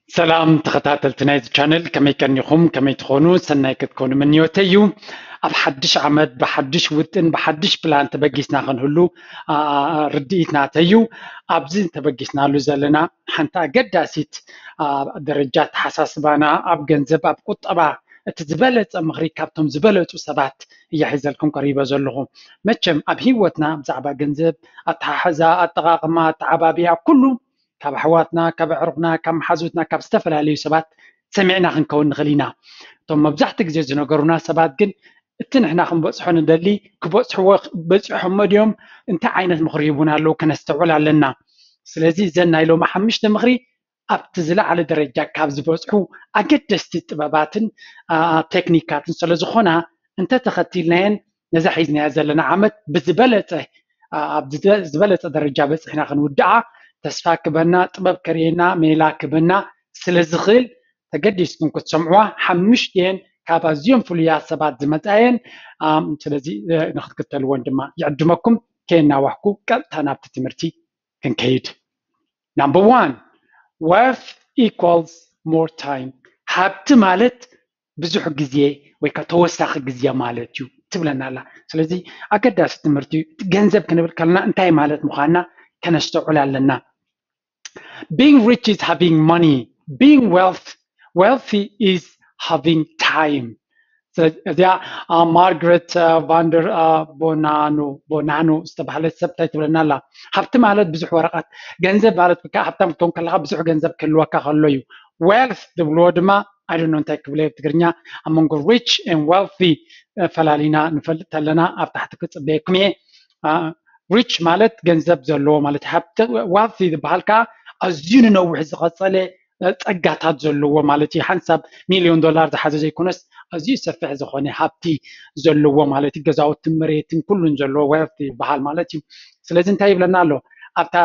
ሰላም ተኸታተልቲ ናይዚ ቻነል፣ ከመይ ቀኒኹም? ከመይ ትኾኑ? ሰናይ ክትኮኑ ምንዮተይ እዩ። ኣብ ሓድሽ ዓመት ብሓድሽ ውጥን ብሓድሽ ፕላን ተበጊስና ክንህሉ ርድኢት ናተይ እዩ። ኣብዚ ተበጊስናሉ ዘለና ሓንቲ ኣገዳሲት ደረጃ ኣተሓሳስባና ኣብ ገንዘብ ኣብ ቁጠባ እቲ ዝበለፀ ምኽሪ ካብቶም ዝበለፁ ሰባት እያ ሒዘልኩም ቀሪበ ዘለኹ። መቸም ኣብ ህይወትና ብዛዕባ ገንዘብ ኣተሓሕዛ፣ ኣጠቓቕማ፣ ኣተዓባብያ ኩሉ ካብ ኣሕዋትና፣ ካብ ኣዕሩኽና፣ ካብ መሓዙትና፣ ካብ ዝተፈላለዩ ሰባት ሰሚዕና ክንከውን ንኽእል ኢና። እቶም መብዛሕትኡ ግዜ ዝነገሩና ሰባት ግን እቲ ንሕና ክንበፅሖ ንደሊ ክበፅሕዎ በፂሖሞ ድዮም? እንታይ ዓይነት ምኽሪ ይቡና ኣለዉ? ከነስተውዕል ኣለና። ስለዚ እዘን ናይ ሎሚ ሓሙሽተ ምኽሪ ኣብቲ ዝለዓለ ደረጃ ካብ ዝበፅሑ ኣገደስቲ ጥበባትን ቴክኒካትን ስለዝኾና እንተተኸቲልናየን ነዛ ሒዝናያ ዘለና ዓመት ብዝበለፀ ኣብ ዝበለፀ ደረጃ በፂሕና ክንውድዓ ተስፋ ክበና፣ ጥበብ ከርእየና፣ ሜላ ክበና ስለ ዝኽእል ተገዲስኩም ክትሰምዕዋ። ሓሙሽቲኤን ካብ ኣዝዮም ፍሉያት ሰባት ዝመፃ እየን። ስለዚ ንክትክተልዎን ድማ ይዕድመኩም። ከየናዋሕኩ ቀጥታ ናብቲ ትምህርቲ ክንከይድ። Number one, wealth equals more time። ሃብቲ ማለት ብዙሕ ግዜ ወይ ከዓ ተወሳኺ ግዜ ማለት እዩ ትብለና ኣላ። ስለዚ ኣገዳሲ ትምህርቲ እዩ። ገንዘብ ክንብል ከለና እንታይ ማለት ምዃንና ከነስተውዕል ኣለና። Being rich is having money. Being wealth, wealthy is having time. እዚኣ ማርግሬት ቫንደር ቦናኖ ቦናኖ ዝተባህለት ሰብ እንታይ ትብለና ኣላ? ሃብቲ ማለት ብዙሕ ወረቐት፣ ገንዘብ ማለት ከዓ ሃብታም ክትኮን ከለካ ብዙሕ ገንዘብ ክህልወካ ከሎ እዩ። ዌልት ዝብልዎ ድማ ኣይ ዶንት ኖ እንታይ ክብሎ ኣብ ትግርኛ፣ ኣብ መንጎ ሪች ኤንድ ዌልቲ ፈላሊና ንፈልጥ ተለና ኣብ ታሕቲ ክፅበየኩም እየ። ሪች ማለት ገንዘብ ዘለዎ ማለት፣ ሃብቲ፣ ዌልቲ ዝበሃል ከዓ ኣዝዩ ንነዊሕ ዝቐፀለ ፀጋታት ዘለዎ ማለት እዩ። ሓንሳብ ሚሊዮን ዶላር ዝሓዘ ዘይኮነስ ኣዝዩ ሰፊሕ ዝኾነ ሃብቲ ዘለዎ ማለት እዩ። ገዛውትን መሬትን ኩሉን ዘለዎ ዌልቲ ይበሃል ማለት እዩ። ስለዚ እንታይ ይብለና ኣሎ ኣብታ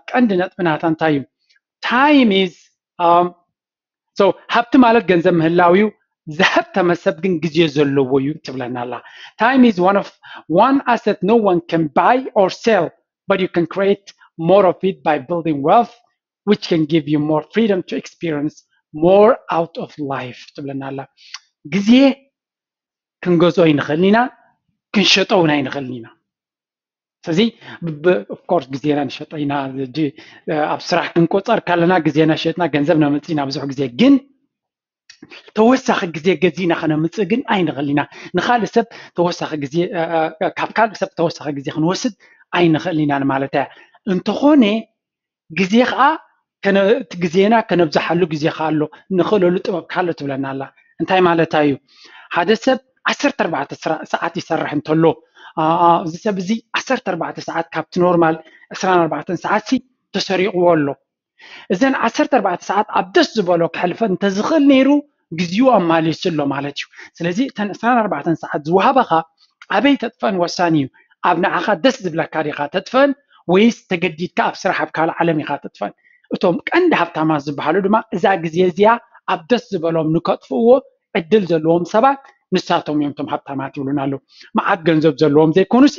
ቀንዲ ነጥቢ ናታ እንታይ እዩ? Time is so ሃብቲ ማለት ገንዘብ ምህላው እዩ። ዝሃብተመ ሰብ ግን ግዜ ዘለዎ እዩ ትብለና ኣላ። Time is one of one asset no one can buy or sell, but you can create more of it by building wealth, which can give you more freedom to experience more out of life ትብለና ኣላ። ግዜ ክንገዝኦ ኣይንኽእልን ኢና፣ ክንሸጦ እውን ኣይንኽእልን ኢና። ስለዚ ኦፍኮርስ ግዜና ንሸጦ ኢና። ኣብ ስራሕ ክንቆፀር ካለና ግዜና ሸጥና ገንዘብ ነምፅእ ኢና ብዙሕ ግዜ። ግን ተወሳኺ ግዜ ገዚእና ከነምፅእ ግን ኣይንኽእል ኢና። ንካልእ ሰብ ተወሳኺ ግዜ ካብ ካልእ ሰብ ተወሳኺ ግዜ ክንወስድ ኣይንኽእል ኢና ማለት እያ። እንተኾነ ግዜ ከዓ እቲ ግዜና ከነብዝሓሉ ግዜ ከዓ ኣሎ፣ ንኽእለሉ ጥበብ ከዓ ኣሎ ትብለና ኣላ። እንታይ ማለታ እዩ? ሓደ ሰብ ዓሰርተ ኣርባዕተ ሰዓት ይሰርሕ እንተሎ፣ እዚ ሰብ እዚ ዓሰርተ ኣርባዕተ ሰዓት ካብቲ ኖርማል ዕስራን ኣርባዕተን ሰዓት ሲ ተሰሪቕዎ ኣሎ። እዘን ዓሰርተ ኣርባዕተ ሰዓት ኣብ ደስ ዝበሎ ከሕልፈን እንተዝኽእል ነይሩ ግዜኡ ኣማሊሱ ኣሎ ማለት እዩ። ስለዚ እተን ዕስራን ኣርባዕተን ሰዓት ዝወሃባኻ ኣበይ ተጥፈን ወሳኒ እዩ። ኣብ ንዓኻ ደስ ዝብለካ ዲኻ ተጥፈን ወይስ ተገዲድካ ኣብ ስራሕ ኣብ ካልእ ዓለም ኢኻ ተጥፈን? እቶም ቀንዲ ሃብታማት ዝበሃሉ ድማ እዛ ግዜ እዚኣ ኣብ ደስ ዝበሎም ንከጥፍእዎ ዕድል ዘለዎም ሰባት ንሳቶም እዮም እቶም ሃብታማት ይብሉና ኣለዉ። መዓት ገንዘብ ዘለዎም ዘይኮኑሲ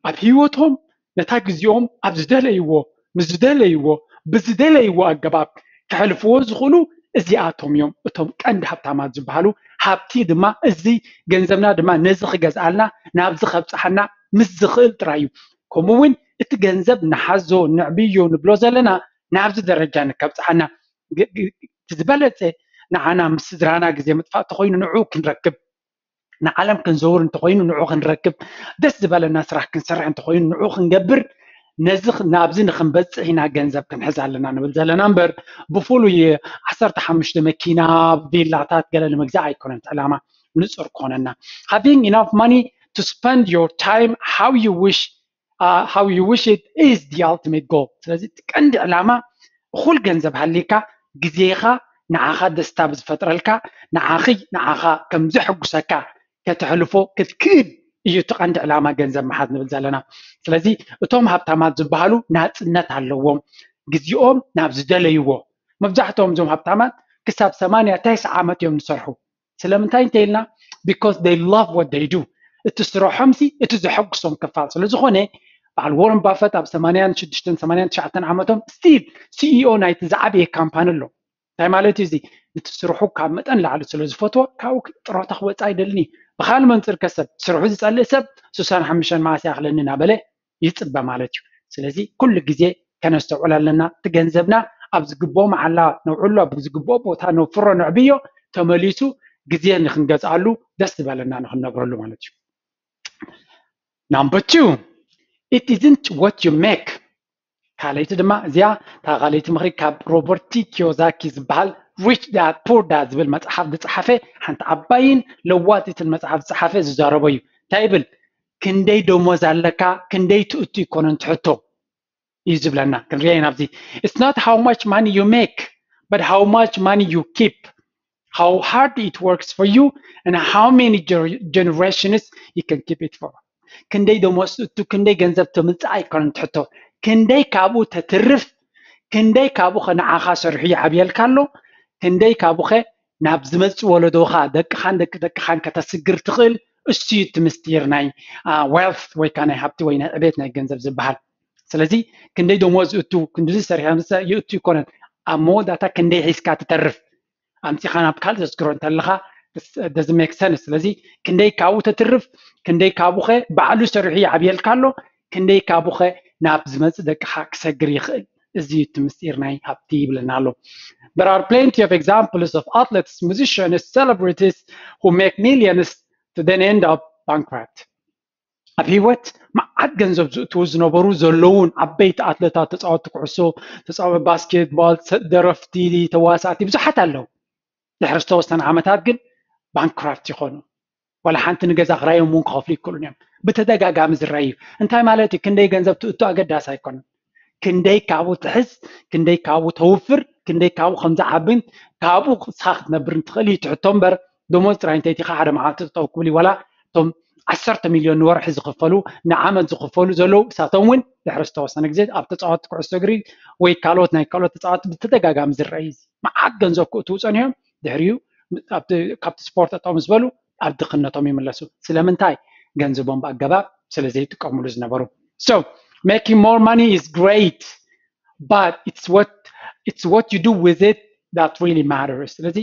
ኣብ ህይወቶም ነታ ግዜኦም ኣብ ዝደለይዎ ምስ ዝደለይዎ ብዝደለይዎ ኣገባብ ከሕልፍዎ ዝኽእሉ እዚኣቶም እዮም እቶም ቀንዲ ሃብታማት ዝበሃሉ። ሃብቲ ድማ እዚ ገንዘብና ድማ ነዚ ክገዝኣልና ናብዚ ከብፅሓና ምስ ዝኽእል ጥራይ እዩ። ከምኡ እውን እቲ ገንዘብ ንሓዞ ንዕብዮ ንብሎ ዘለና ናብዚ ደረጃ ንከብፅሓና ዝበለፀ ንዓና ምስ ስድራና ግዜ ምጥፋእ ተኮይኑ ንዑ ክንረክብ ንዓለም ክንዘውር እንተኮይኑ ንዑ ክንረክብ፣ ደስ ዝበለና ስራሕ ክንሰርሕ እንተኮይኑ ንዑ ክንገብር፣ ነዚ ናብዚ ንክንበፅሕ ኢና ገንዘብ ክንሕዝ ኣለና ንብል ዘለና እምበር ብፍሉይ ዓሰርተ ሓሙሽተ መኪና ቪላታት ገለ ንምግዛእ ኣይኮነን ዕላማ። ንፁር ክኾነና having enough money to spend your time how you wish how you wish it is the ultimate goal። ስለዚ እቲ ቀንዲ ዕላማ እኹል ገንዘብ ሃሊካ ግዜኻ ንዓኻ ደስታ ብዝፈጥረልካ ንዓኺ ንዓኻ ከም ዘሐጉሰካ ከተሕልፎ ክትክእል እዩ እቲ ቀንዲ ዕላማ ገንዘብ ምሓዝ ንብል ዘለና። ስለዚ እቶም ሃብታማት ዝበሃሉ ናፅነት ኣለዎም። ግዜኦም ናብ ዝደለይዎ መብዛሕትኦም እዞም ሃብታማት ክሳብ ሰማንያ ተስዓ ዓመት እዮም ዝሰርሑ። ስለምንታይ እንተኢልና because they love what they do። እቲ ስርሖምሲ እቲ ዘሐጉሶም ክፋል ስለዝኾነ በዓል ወረን ባፈት ኣብ ሰማንያን ሽዱሽተን ሰማንያን ትሽዓተን ዓመቶም still CEO ናይቲ ዝዓበየ ካምፓኒ ኣሎ። እንታይ ማለት እዩ እዚ? ነቲ ስርሑ ካብ መጠን ላዕሊ ስለ ዝፈትዎ ካብኡ ጥሮታ ክወፅእ ኣይደልን እዩ። ብካል መንፅር ከሰብ ስርሑ ዝፀልእ ሰብ ስሳን ሓሙሽተን መዓስ ይኣኽለኒ እናበለ ይፅበ ማለት እዩ። ስለዚ ኩሉ ግዜ ከነስተውዕል ኣለና። እቲ ገንዘብና ኣብ ዝግብኦ መዓላ ነውዕሎ፣ ኣብ ዝግብኦ ቦታ ነውፍሮ፣ ነዕብዮ፣ ተመሊሱ ግዜ ንክንገዝኣሉ ደስ ዝበለና ንክንነብረሉ ማለት እዩ። Number two, it isn't what you make. ካልኣይቲ ድማ እዚኣ እታ ካልኣይቲ ምኽሪ ካብ ሮበርት ቲ ኪዮዛኪ ዝበሃል ሪች ዳድ ፑር ዳድ ዝብል መፅሓፍ ዝፀሓፈ ሓንቲ ዓባይን ለዋጢትን መፅሓፍ ዝፀሓፈ ዝዛረቦ እዩ። እንታይ ይብል? ክንደይ ደሞዝ ኣለካ፣ ክንደይ ትእቱ ይኮነን ትሕቶ እዩ ዝብለና። ክንሪኦ ኢና ኣብዚ። It's not how much money you make, but how much money you keep, how hard it works for you, and how many generations you can keep it for. ክንደይ ደሞዝ ትእቱ፣ ክንደይ ገንዘብ ተምፅእ ኣይኮነን ትሕቶ፣ ክንደይ ካብኡ ተትርፍ፣ ክንደይ ካብኡ ከ ንዓኻ ሰሪሑ ይዓብየልካ ኣሎ፣ ክንደይ ካብኡ ከ ናብ ዝመፅእ ወለዶኻ፣ ደቅኻን ደቂ ደቅኻን ከተስግር ትኽእል። እሱ እዩ እቲ ምስጢር ናይ wealth ወይ ከዓ ናይ ሃብቲ ወይ ናይ ዕቤት ናይ ገንዘብ ዝበሃል። ስለዚ ክንደይ ደሞዝ ዝእቱ፣ ክንድዚ ሰሪሐ ምስ ይእቱ ይኮነን፣ ኣብ መወዳእታ ክንደይ ሒዝካ ትተርፍ ኣምፂኻ ናብ ካልእ ዘስግሮ እንተለኻ doesn't make sense። ስለዚ ክንደይ ካብኡ ተትርፍ፣ ክንደይ ካብኡ ኸ ባዕሉ ሰሪሑ ይዓብየልካ ኣሎ፣ ክንደይ ካብኡ ኸ ናብ ዝመፅእ ደቅኻ ክሰግር ይኽእል። እዚ እዩ እቲ ምስጢር ናይ ሃብቲ ይብለና ኣሎ። There are plenty of examples of athletes, musicians, celebrities who make millions to then end up bankrupt. ኣብ ህይወት መዓት ገንዘብ ዝእትዉ ዝነበሩ ዘለውን ዓበይቲ ኣትለታት፣ ተፃወቲ ኩዕሶ፣ ተፃወቲ ባስኬትቦል፣ ደረፍቲ፣ ተዋሳእቲ ብዙሓት ኣለዉ። ድሕሪ ዝተወሰነ ዓመታት ግን ባንክራፍት ይኾኑ። ዋላ ሓንቲ ንገዛ ክራዮም እውን ክኸፍሉ ይክእሉን እዮም። ብተደጋጋሚ ዝረኣዩ እንታይ ማለት እዩ? ክንደይ ገንዘብ ትእቱ ኣገዳሲ ኣይኮነን። ክንደይ ካብኡ ትሕዝ፣ ክንደይ ካብኡ ተውፍር፣ ክንደይ ካብኡ ከምዝዓብን ካብኡ ንስኻ ክትነብር እንትኽእል እዩ ትሕቶ እምበር፣ ደሞዝ ጥራይ እንተይቲኻ ሓደ መዓልቲ ጠጠው ክብል እዩ። ዋላ እቶም ዓሰርተ ሚልዮን ንወርሒ ዝኽፈሉ፣ ንዓመት ዝኽፈሉ ዘለዉ፣ እሳቶም እውን ድሕሪ ዝተወሰነ ግዜ ኣብ ተፃወቲ ኩዕሶ እግሪ ወይ ካልኦት ናይ ካልኦት ተፃወቲ ብተደጋጋሚ ዝረኣዩ እዩ። መዓት ገንዘብ ክእትዉ ፀኒሖም፣ ድሕሪኡ ኣብቲ ካብቲ ስፖርት ጠጠው ምስ በሉ ኣብ ድኽነቶም ይምለሱ። ስለምንታይ? ገንዘቦም ብኣገባብ ስለ ዘይጥቀምሉ ዝነበሩ። So making more money is great, but it's what it's what you do with it that really matters። ስለዚ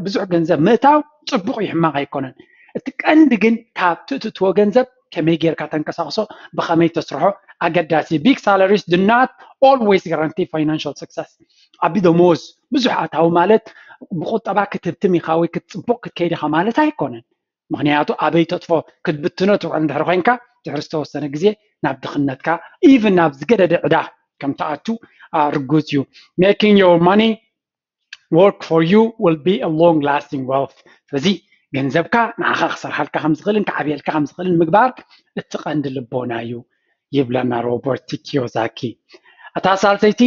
ብዙሕ ገንዘብ ምእታው ፅቡቕ እዩ፣ ሕማቕ ኣይኮነን። እቲ ቀንዲ ግን ካብ ትእትዎ ገንዘብ ከመይ ጌርካ ተንቀሳቕሶ፣ ብኸመይ ተስርሖ ኣገዳሲ። Big salaries do not always guarantee financial success። ዓቢ ደሞዝ፣ ብዙሕ ኣታዊ ማለት ብቁጠባ ክትህብትም ኢኻ ወይ ክትፅቡቕ ክትከይድ ኢኻ ማለት ኣይኮነን። ምኽንያቱ ኣበይ ተጥፎ ክትብትኖ ትውዕል እንድሕር ኮይንካ ድሕሪ ዝተወሰነ ግዜ ናብ ድኽነትካ even ናብ ዝገደደ ዕዳ ከም ትኣቱ ርጉፅ እዩ። Making your money work for you will be a long lasting wealth። ስለዚ ገንዘብካ ንዓኻ ክሰርሓልካ ከም ዝኽእልን ክዓብየልካ ከም ዝኽእልን ምግባር እቲ ቀንዲ ልቦና እዩ ይብለና ሮበርት ኪዮዛኪ። እታ ሳልሰይቲ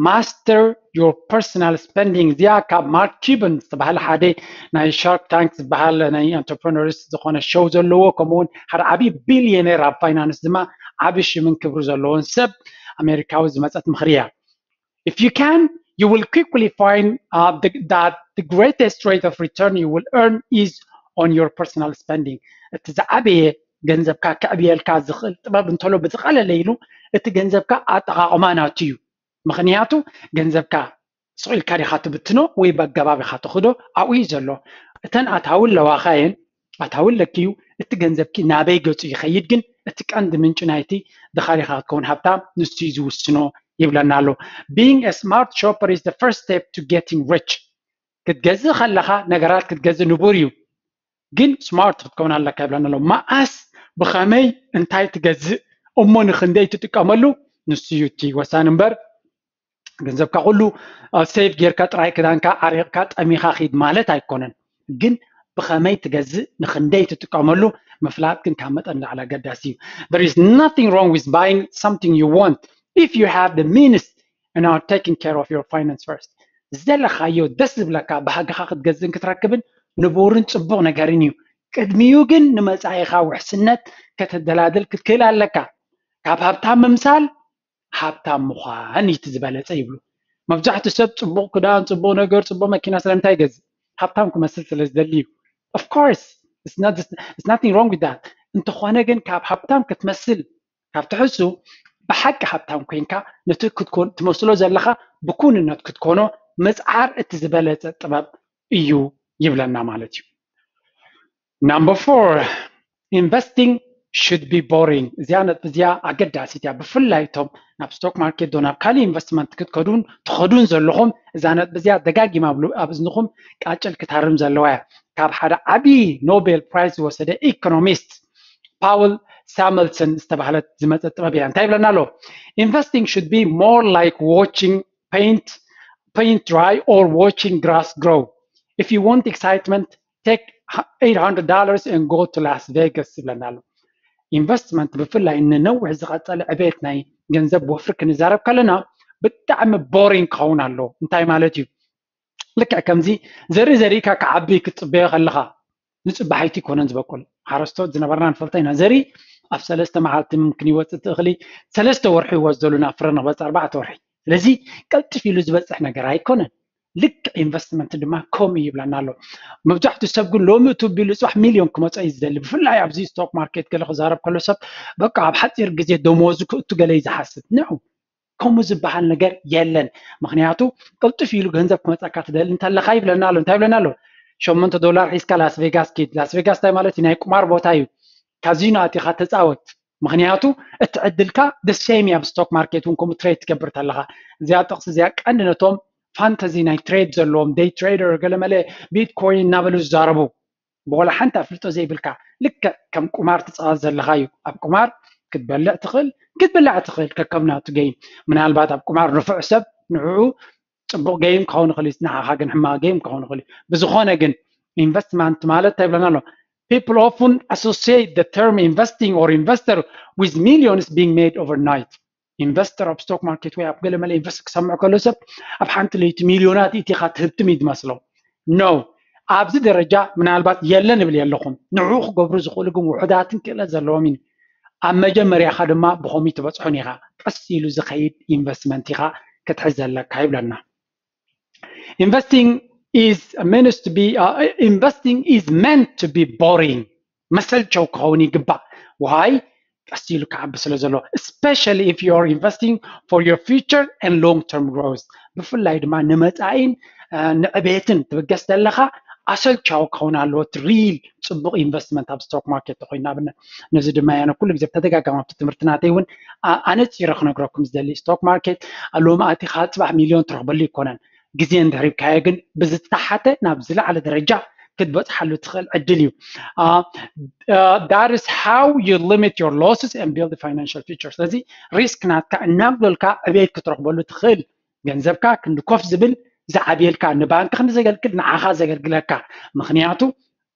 master your personal spending፣ እዚኣ ካብ ማርክ ኪበን ዝተባህለ ሓደ ናይ ሻርክ ታንክ ዝበሃል ናይ ኢንተርፕረነርስ ዝኾነ ሾው ዘለዎ፣ ከምኡውን ሓደ ዓብዪ ቢልዮኔር ኣብ ፋይናንስ ድማ ዓብዪ ሽምን ክብሪ ዘለዎን ሰብ ኣሜሪካዊ ዝመፀት ምኽሪ እያ። If you can, you will quickly find uh, the, that the greatest rate of return you will earn is on your personal spending። እቲ ዝዓበየ ገንዘብካ ከዕብየልካ ዝኽእል ጥበብ እንተሎ ብዝቐለለ ኢሉ እቲ ገንዘብካ ኣጠቓቕማ ናቱ እዩ። ምኽንያቱ ገንዘብካ ስቕ ኢልካ ዲኻ ትብትኖ ወይ ብኣገባብ ኢኻ ትኽዶ ኣብኡ እዩ ዘሎ። እተን ኣታዊ ኣለዋኻየን ኣታዊ ኣለኪ እዩ። እቲ ገንዘብኪ ናበይ ገፁ ይኸይድ ግን እቲ ቀንዲ ምንጪ ናይቲ ድኻ ዲኻ ክትከውን ሃብታም ንሱ እዩ ዝውስኖ ይብለና ኣሎ። Being a smart shopper is the first step to getting rich። ክትገዝእ ከለኻ ነገራት ክትገዝእ ንቡር እዩ፣ ግን ስማርት ክትከውን ኣለካ ይብለና ኣሎ። መዓስ፣ ብኸመይ፣ እንታይ ትገዝእ እሞ ንክንደይ ትጥቀመሉ ንሱ እዩ እቲ ወሳኒ እምበር ገንዘብካ ኩሉ ሴቭ ጌርካ ጥራይ ክዳንካ ዓሪቕካ ጠሚኻ ኺድ ማለት ኣይኮነን። ግን ብኸመይ ትገዝእ ንክንደይ ትጥቀመሉ ምፍላጥ ግን ካብ መጠን ላዕሊ ኣገዳሲ እዩ። There is nothing wrong with buying something you want if you have the means and are taking care of your finance first። ዝደለኻዮ ደስ ዝብለካ ባህግኻ ክትገዝእን ክትረክብን ንቡርን ፅቡቕ ነገርን እዩ። ቅድሚኡ ግን ንመፃኢኻ ውሕስነት ከተደላድል ክትክእል ኣለካ። ካብ ሃብታም ምምሳል ሃብታም ምዃን እዩ እቲ ዝበለፀ ይብሉ። መብዛሕትኡ ሰብ ፅቡቕ ክዳን፣ ፅቡቕ ነገር፣ ፅቡቕ መኪና ስለምንታይ ይገዝእ? ሃብታም ክመስል ስለ ዝደሊ እዩ። Of course, it's nothing wrong with that። እንተኾነ ግን ካብ ሃብታም ክትመስል ካብ ትሕሱ ብሓቂ ሃብታም ኮይንካ ነቲ ክትኮን ትመስሎ ዘለኻ ብኩንነት ክትኮኖ ምፅዓር እቲ ዝበለፀ ጥበብ እዩ ይብለና ማለት እዩ። Number four, investing should be boring። እዚኣ ነጥቢ እዚኣ ኣገዳሲት እያ። ብፍላይ እቶም ናብ ስቶክ ማርኬት ዶ ናብ ካልእ ኢንቨስትመንት ክትከዱን ትኸዱን ዘለኹም እዛ ነጥቢ እዚኣ ደጋጊማ ኣብ ሉ- ኣብ እዝንኹም ቃጭል ክታርም ዘለዋ እያ። ካብ ሓደ ዓብዪ ኖቤል ፕራይዝ ዝወሰደ ኢኮኖሚስት ፓውል ሳመልሰን ዝተባህለት ዝመፀ ጥበብ እያ። እንታይ ይብለና ኣሎ? Investing should be more like watching paint paint dry or watching grass grow. If you want excitement, take eight hundred dollars and go to Las Vegas ይብለና ኣሎ። ኢንቨስትመንት ብፍላይ ንነዊሕ ዝቐፀለ ዕቤት ናይ ገንዘብ ወፍሪ ክንዛረብ ከለና ብጣዕሚ ቦሪንግ ክኸውን ኣሎ። እንታይ ማለት እዩ? ልክዕ ከምዚ ዘርኢ ዘሪእካ ክዓቢ ክትፅበዮ ከለኻ ንፅባሒቲ ይኮነን ዝበቁል። ሓረስቶት ዝነበርና ንፈልጦ ኢና። ዘርኢ ኣብ ሰለስተ መዓልቲ ምምክን ይወፅእ እቲ እኽሊ ሰለስተ ወርሒ ይወስደሉ ናብ ፍረ ንክበፅእ ኣርባዕተ ወርሒ። ስለዚ ቀልጥፍ ኢሉ ዝበፅሕ ነገር ኣይኮነን። ልክዕ ኢንቨስትመንት ድማ ከምኡ ይብለና ኣሎ። መብዛሕትኡ ሰብ ግን ሎሚ እቱ ቢሉ ፅባሕ ሚልዮን ክመፀ እዩ ዝደሊ። ብፍላይ ኣብዚ ስቶክ ማርኬት ገለ ክዛረብ ከሎ ሰብ በቃ ኣብ ሓፂር ግዜ ደሞዙ ክእቱ ገለ እዩ ዝሓስብ። ንዑ ከምኡ ዝበሃል ነገር የለን። ምክንያቱ ቅልጥፍ ኢሉ ገንዘብ ክመፀካ ትደሊ እንተለካ ይብለና ኣሎ። እንታይ ይብለና ኣሎ? ሸሞንተ ዶላር ሒዝካ ላስ ቬጋስ ኪድ። ላስ ቬጋስ እንታይ ማለት እዩ? ናይ ቁማር ቦታ እዩ። ካዚኖ ኣቲኻ ተፃወት። ምክንያቱ እቲ ዕድልካ ደሴም ኣብ ስቶክ ማርኬት እውን ከምኡ ትሬድ ትገብር ተለካ። እዚኣ ጥቕሲ እዚኣ ቀንዲ ነቶም ፋንተዚ ናይ ትሬድ ዘለዎም ደይ ትሬደር ገለመለ ቢትኮይን እናበሉ ዝዛረቡ ብወላ ሓንቲ ኣፍልጦ ዘይብልካ ልክዕ ከም ቁማር ትፃወት ዘለካ እዩ። ኣብ ቁማር ክትበልዕ ትኽእል ክትብላዕ ትኽእል ከከም ናቱ ገይም። ምናልባት ኣብ ቁማር ንፉዕ ሰብ ንዕኡ ፅቡቕ ገይም ክኸውን ይኽእል እዩ፣ ንዓኻ ግን ሕማቕ ገይም ክኸውን ይኽእል እዩ። ብዝኾነ ግን ኢንቨስትመንት ማለት እንታይ ይብለና ኣሎ? People often associate the term investing or investor with millions being made overnight. ኢንቨስተር ኣብ ስቶክ ማርኬት ወይ ኣብ ገለ መለ ኢንቨስት ክሰምዕ ከሎ ሰብ ኣብ ሓንቲ ለይቲ ሚልዮናት ኢቲኻ ትህብትም እዩ ዝመስሎ። ኖ፣ ኣብዚ ደረጃ ምናልባት የለን እብል የለኹም። ንዕኡ ክገብሩ ዝኽእሉ ግን ውሑዳትን ክእለት ዘለዎም እዩ። ኣብ መጀመርያኻ ድማ ብኸምኡ ትበፅሖን ኢኻ። ቀስ ኢሉ ዝኸይድ ኢንቨስትመንት ኢኻ ክትሕዝ ዘለካ ይብለና። Investing is meant to be uh, investing is meant to be boring. መሰልቸው ክኸውን ይግባእ። ዋይ ቀስ ኢሉ ክዓቢ ስለ ዘሎ፣ especially if you are investing for your future and long term growth። ብፍላይ ድማ ንመፃኢን ንዕቤትን ትብገስ ዘለካ ኣሰልቻዊ ክኸውን ኣለዎ። እቲ ሪል ፅቡቅ ኢንቨስትመንት ኣብ ስቶክ ማርኬት ተኮይኑ ኣብነት ነዚ ድማ ያነ ኩሉ ግዜ ብተደጋጋሚ ኣብቲ ትምህርቲ ናተይ እውን ኣነፂረ ክነግረኩም ዝደሊ ስቶክ ማርኬት ሎሚ ኣቲካ ፅባሕ ሚልዮን ትረክበሉ ይኮነን። ግዜ እንድሕር ሂብካዮ ግን ብዝተሓተ ናብ ዝለዓለ ደረጃ ክትበፅሓሉ ትኽእል ዕድል እዩ። That is how you limit your losses and build a financial future። ስለዚ ሪስክ ናትካ እናጉደልካ ዕቤት ክትረክበሉ ትኽእል። ገንዘብካ ክንዲ ኮፍ ዝብል ዝዓብየልካ ንባንክ ክንዲ ዘገልግል ንዓኻ ዘገልግለካ። ምክንያቱ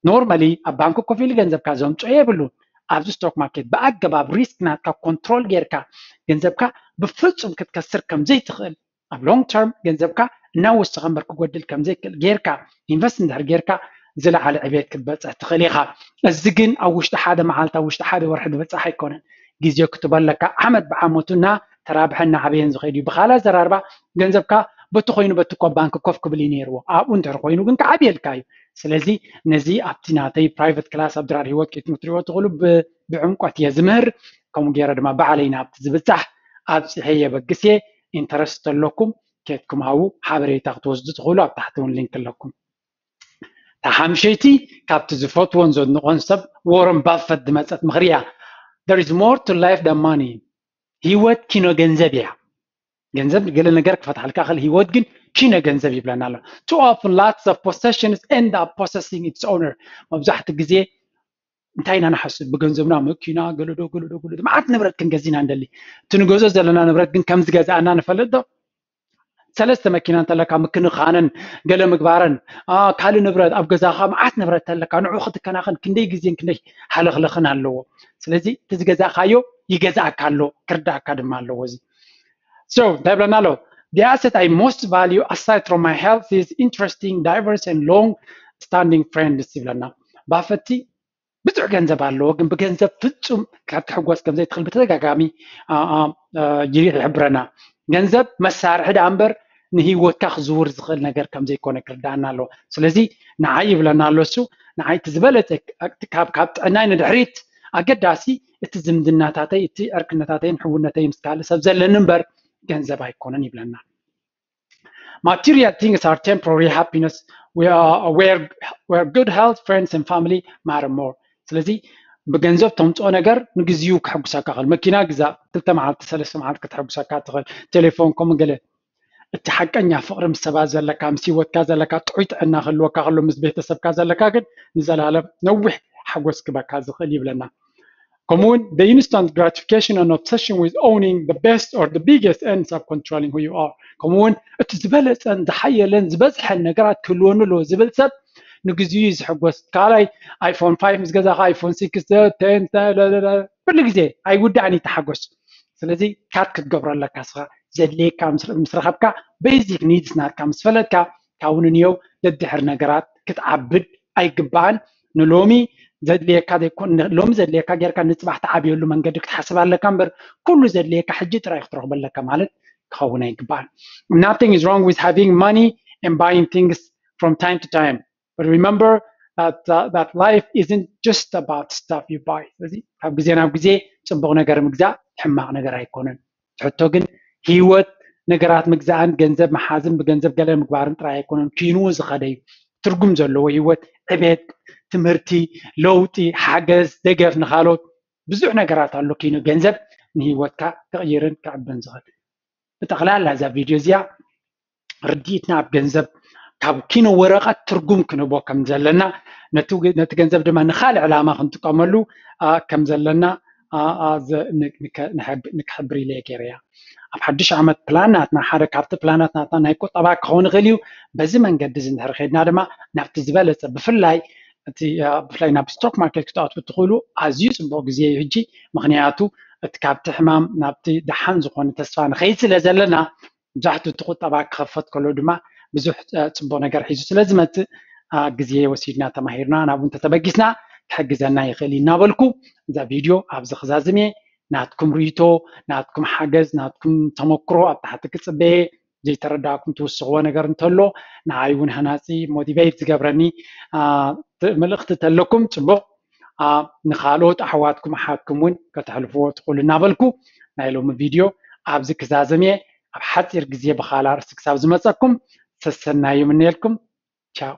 ኖርማሊ ኣብ ባንክ ኮፍ ኢሉ ገንዘብካ ዘምፅኦ የብሉን። ኣብዚ ስቶክ ማርኬት ብኣገባብ ሪስክ ናትካ ኮንትሮል ጌርካ ገንዘብካ ብፍፁም ክትከስር ከምዘይትኽእል ኣብ ሎንግ ተርም ገንዘብካ እናወሰኸ እምበር ክጎድል ከምዘይክእል ጌርካ ኢንቨስት እንድሕር ጌርካ ዝለዓለ ዕቤት ክትበፅሕ ትኽእል ኢኻ። እዚ ግን ኣብ ውሽጢ ሓደ መዓልቲ ኣብ ውሽጢ ሓደ ወርሒ ዝበፅሕ ኣይኮነን። ግዜ ክትበለካ ዓመት ብዓመቱ እና ተራብሐ እናዓበየን ዝኸይድ እዩ። ብካልእ ኣዘራርባ ገንዘብካ በቲ ኮይኑ በቲ እኮ ባንክ ኮፍ ክብል እዩ ነይርዎ። ኣብኡ እንድሕር ኮይኑ ግን ክዓብየልካ እዩ። ስለዚ ነዚ ኣብቲ ናተይ ፕራይቨት ክላስ ኣብ ድራር ህይወት ክትምትሪዎ ትኽእሉ ብዕምቆት እየ ዝምህር። ከምኡ ገይረ ድማ ባዕለይ ናብቲ ዝብፃሕ ኣብፂሐ የበግስ እየ። ኢንተረስት ተለኩም ኬድኩም ሃቡ። ሓበሬታ ክትወስዱ ትኽእሉ ኣብ ታሕቲ እውን ሊንክ ኣለኩም። ተሓምሸይቲ ካብቲ ዝፈትዎን ዘድንቆን ሰብ ዎረን ባፈት ዝመፀት ምኽሪ እያ። There is more to life than money። ህይወት ኪኖ ገንዘብ እያ። ገንዘብ ገለ ነገር ክፈትሓልካ ክእል፣ ህይወት ግን ኪኖ ገንዘብ ይብለና ኣሎ። Too often lots of possessions end up possessing its owner። መብዛሕትኡ ግዜ እንታይ ኢና ንሓስብ? ብገንዘብና መኪና ገለዶ ገለዶ ገለዶ መዓት ንብረት ክንገዝእ ኢና ንደሊ። እቲ ንገዝኦ ዘለና ንብረት ግን ከም ዝገዛእና ንፈልጥ ዶ? ሰለስተ መኪና እንተለካ ምክንኻነን ገለ ምግባረን ካልእ ንብረት ኣብ ገዛኻ መዓት ንብረት ተለካ ንዑ ክትከናኸን ክንደይ ግዜን ክንደይ ሃለኽለኽን ኣለዎ። ስለዚ እቲ ዝገዛእካዮ ይገዛእካ ኣሎ ክርዳእካ ድማ ኣለዎ። እዚ so እንታይ ይብለና ኣሎ? The asset I most value aside from my health is interesting, diverse and long standing friends ይብለና። ባፈቲ ብዙሕ ገንዘብ ኣለዎ፣ ግን ብገንዘብ ፍጹም ካብ ትሕጎስ ከም ዘይትኽእል ብተደጋጋሚ ይሕብረና። ገንዘብ መሳርሒ ደኣ እምበር ንህይወትካ ክዝውር ዝኽእል ነገር ከም ዘይኮነ ክርዳኣና ኣለዎ። ስለዚ ንዓይ ይብለና ኣሎ እሱ፣ ንዓይ እቲ ዝበለጸ ካብ ካብ ጥዕናይ ንድሕሪት ኣገዳሲ እቲ ዝምድናታተይ፣ እቲ ዕርክነታተይን ሕውነተይ ምስ ካልእ ሰብ ዘለኒ እምበር ገንዘብ ኣይኮነን ይብለና። Material things are temporary happiness. We are aware where good health, friends and family matter more. ስለዚ ብገንዘብ ተምፅኦ ነገር ንግዚኡ ከሐጉሰካ ክእል። መኪና ግዛ፣ ክልተ መዓልቲ ሰለስተ መዓልቲ ከተሐጉሰካ ትኽእል። ቴሌፎን ከምኡ ገለ። እቲ ሓቀኛ ፍቕሪ ምስ ሰባት ዘለካ፣ ምስ ህይወትካ ዘለካ ጥዑይ ጥዕና ክህልወካ ከሎ፣ ምስ ቤተሰብካ ዘለካ ግን ንዘላለም ነዊሕ ሓጎስ ክበካ ዝኽእል ይብለና። ከምኡውን the instant gratification and obsession with owning the best or the biggest ends up controlling who you are. ከምኡውን እቲ ዝበለፀን ዝሓየለን ዝበዝሐን ነገራት ክህልወኒ ኣለዎ ዝብል ሰብ ንግዚኡ እዩ ዝሕጎስ። ካልኣይ iPhone five ምስ ገዛኻ iPhone six ten ኩሉ ግዜ ኣይውዳእን እዩ ተሓጎስ። ስለዚ ካት ክትገብሮ ኣለካ ስኻ ዘድልየካ ምስ ረኸብካ basic needs ናትካ ምስ ፈለጥካ ካብኡ ንንየው ደድሕር ነገራት ክትዓብድ ኣይግባእን። ንሎሚ ዘድልየካ ዘይኮን ሎሚ ዘድልየካ ጌርካ ንፅባሕ ትዓብየሉ መንገዲ ክትሓስብ ኣለካ እምበር ኩሉ ዘድልየካ ሕጂ ጥራይ ክትረኽቦ ኣለካ ማለት ክኸውን ኣይግባእን። Nothing is wrong with having money and buying things from time to time. But remember that, uh, that life isn't just about stuff you buy. ስለዚ ካብ ግዜ ናብ ግዜ ፅቡቕ ነገር ምግዛእ ሕማቕ ነገር ኣይኮነን። ሕቶ ግን ህይወት ነገራት ምግዛእን ገንዘብ መሓዝን ብገንዘብ ገለ ምግባርን ጥራይ ኣይኮነን። ኪንኡ ዝኸደ እዩ። ትርጉም ዘለዎ ህይወት፣ ዕቤት፣ ትምህርቲ፣ ለውጢ፣ ሓገዝ፣ ደገፍ ንኻልኦት ብዙሕ ነገራት ኣሎ። ኪኖ ገንዘብ ንህይወትካ ክቕይርን ክዕብን ዝኽእል። ብጠቕላላ እዛ ቪድዮ እዚኣ ርድኢትና ኣብ ገንዘብ ካብ ኪኖ ወረቐት ትርጉም ክንህቦ ከም ዘለና ነቲ ገንዘብ ድማ ንካልእ ዕላማ ክንጥቀመሉ ከም ዘለና ንክሕብር ኢለ ገይረያ። ኣብ ሓድሽ ዓመት ፕላን ናትና ሓደ ካብቲ ፕላናት ናትና ናይ ቁጠባ ክኸውን ይኽእል እዩ። በዚ መንገዲ እዚ እንድሕር ከድና ድማ ናብቲ ዝበለፀ ብፍላይ እቲ ብፍላይ ናብ ስቶክ ማርኬት ክትኣትዉ ትኽእሉ ኣዝዩ ፅቡቅ ግዜ እዩ ሕጂ። ምክንያቱ እቲ ካብቲ ሕማም ናብቲ ደሓን ዝኾነ ተስፋ ንኸይድ ስለ ዘለና መብዛሕትኡ እቲ ቁጠባ ክኸፈት ከሎ ድማ ብዙሕ ፅቡቅ ነገር ሒዙ ስለ ዝመፅእ ግዜ ወሲድና ተማሂርና ናብኡ እንተተበጊስና ክሕግዘና ይኽእል እዩ እናበልኩ እዛ ቪድዮ ኣብዚ ክዛዝም እየ። ናትኩም ርእይቶ፣ ናትኩም ሓገዝ፣ ናትኩም ተመክሮ ኣብ ታሕቲ ክፅበየ። ዘይተረዳእኩም ትውስኽዎ ነገር እንተሎ ንዓይ እውን ሃናፂ ሞቲቬት ዝገብረኒ መልእኽቲ ተለኩም ፅቡቕ ንኻልኦት ኣሕዋትኩም ኣሓትኩም እውን ከተሕልፍዎ ትኽእሉ እናበልኩ ናይ ሎሚ ቪድዮ ኣብዚ ክዛዘም እየ። ኣብ ሓፂር ግዜ ብኻል ኣርእስቲ ክሳብ ዝመፀኩም ሰሰናዩ ምነየልኩም። ቻው።